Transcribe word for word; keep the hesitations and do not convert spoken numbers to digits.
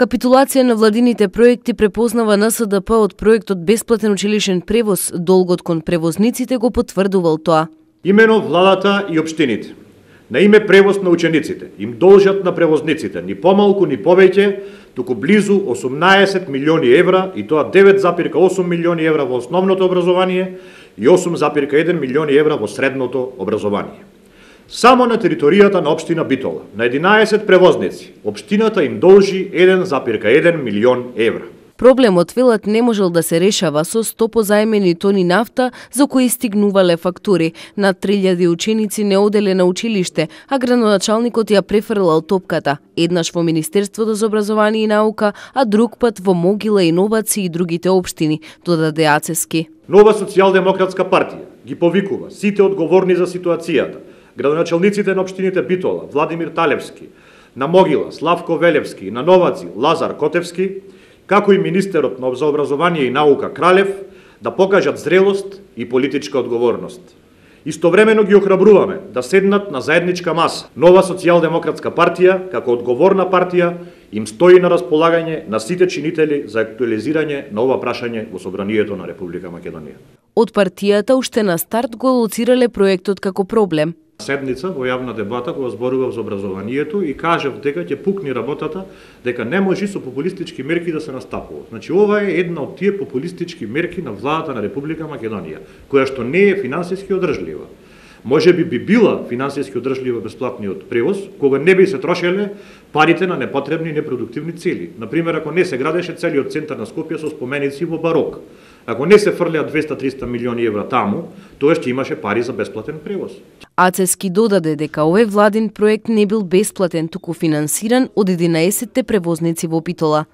Капитулација на владините проекти препознава Н С Д П од проектот Бесплатен училишен превоз, долгот кон превозниците го потврдувал тоа. Имено владата и општините на име превоз на учениците им должат на превозниците ни помалку ни повеќе, туку близу осумнаесет милиони евра, и тоа девет зарез и осум милиони евра во основното образование и осум зарез и еден милиони евра во средното образование. Само на територијата на општина Битола, на единаесет превозници, општината им должи еден зарез и еден милион евра. Проблемот, велат, не можел да се решава со сто позаемени тони нафта за кои стигнувале фактури. Над три илјади ученици не оделе на училиште, а градоначалникот ја префрлал топката. Еднаш во Министерството за образование и наука, а друг пат во Могила, Иновации и другите општини, додаде Ацески. Нова социјалдемократска партија ги повикува сите одговорни за ситуацијата, градоначалниците на општините Битола, Владимир Талевски, на Могила, Славко Велевски, на Новаци, Лазар Котевски, како и министерот за образование и наука Кралев, да покажат зрелост и политичка одговорност. Истовремено ги охрабруваме да седнат на заедничка маса. Нова социјалдемократска партија, како одговорна партија, им стои на располагање на сите чинители за актуализирање на ова прашање во Собранието на Република Македонија. Од партијата уште на старт го лоцирале проектот како проблем. Седница во јавна дебата кога зборував за образованието и кажав дека ќе пукни работата, дека не може со популистички мерки да се настапува. Значи ова е една од тие популистички мерки на владата на Република Македонија, која што не е финансиски одржлива. Може би би била финансиски одржлива бесплатниот превоз, кога не би се трошеле парите на непотребни и непродуктивни цели. Например, ако не се градеше целиот центар на Скопје со споменици во барок. Ако не се фрлеа двеста до триста милиони евра таму, тоа ќе имаше пари за бесплатен превоз. Ацески додаде дека овој владин проект не бил бесплатен, туку финансиран од единаесетте превозници во Битола.